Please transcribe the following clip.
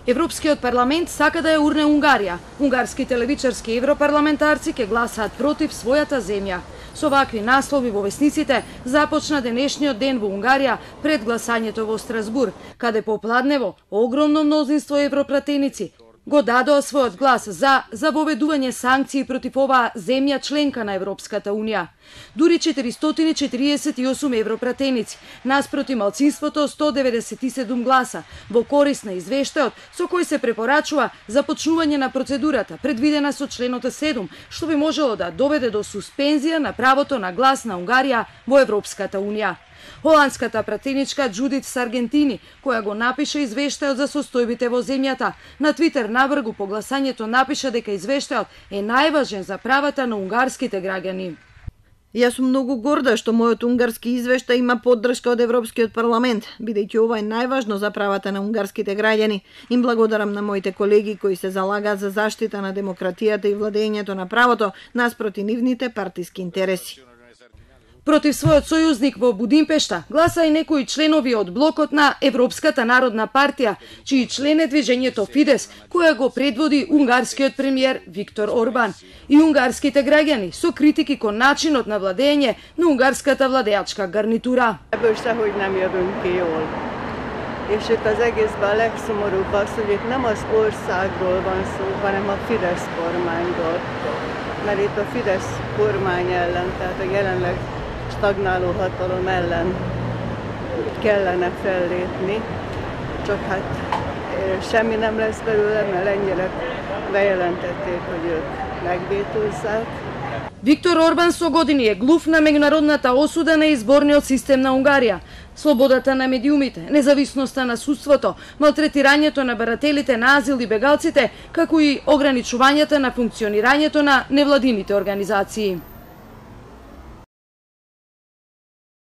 Европскиот парламент сака да ја урне Унгарија. Унгарските левичарски европарламентарци ќе гласаат против својата земја. Со вакви наслови во весниците започна денешниот ден во Унгарија пред гласањето во Страсбург, каде попладнево огромно мнозинство европратеници го дадоа својот глас за воведување санкции против оваа земја членка на Европската Унија. Дури 448 европратеници, наспроти малцинството 197 гласа, во корист на извештајот со кој се препорачува започнување на процедурата предвидена со членот 7, што би можело да доведе до суспензија на правото на глас на Унгарија во Европската Унија. Холандската пратеничка Джудит Саргентини, која го напише извештајот за состојбите во земјата, на Твитер навргу по гласањето напиша дека извештајот е најважен за правата на унгарските граѓани. Јас сум многу горда што мојот унгарски извештај има поддршка од Европскиот парламент, бидејќи ова е најважно за правата на унгарските граѓани. Им благодарам на моите колеги кои се залагаат за заштита на демократијата и владењето на правото наспроти нивните партиски интереси. Против својот сојузник во Будимпешта гласа и некои членови од блокот на Европската народна партија, чиј член е движењето Фидес, која го предводи унгарскиот премиер Виктор Орбан. И унгарските граѓани со критики кон начинот на владење на унгарската владеачка гарнитура. És itt az egészben a legszomorúbb az, hogy itt nem az országról van szó, hanem a Fidesz kormányról. Mert itt a Fidesz kormány ellen, tehát a jelenleg stagnáló hatalom ellen kellene fellépni, csak hát semmi nem lesz belőle, mert lengyelek bejelentették, hogy ők megvétózzák. Виктор Орбан со години е глув на меѓународната осуда на изборниот систем на Унгарија, слободата на медиумите, независноста на судството, малтретирањето на барателите на азил и бегалците, како и ограничувањата на функционирањето на невладините организации.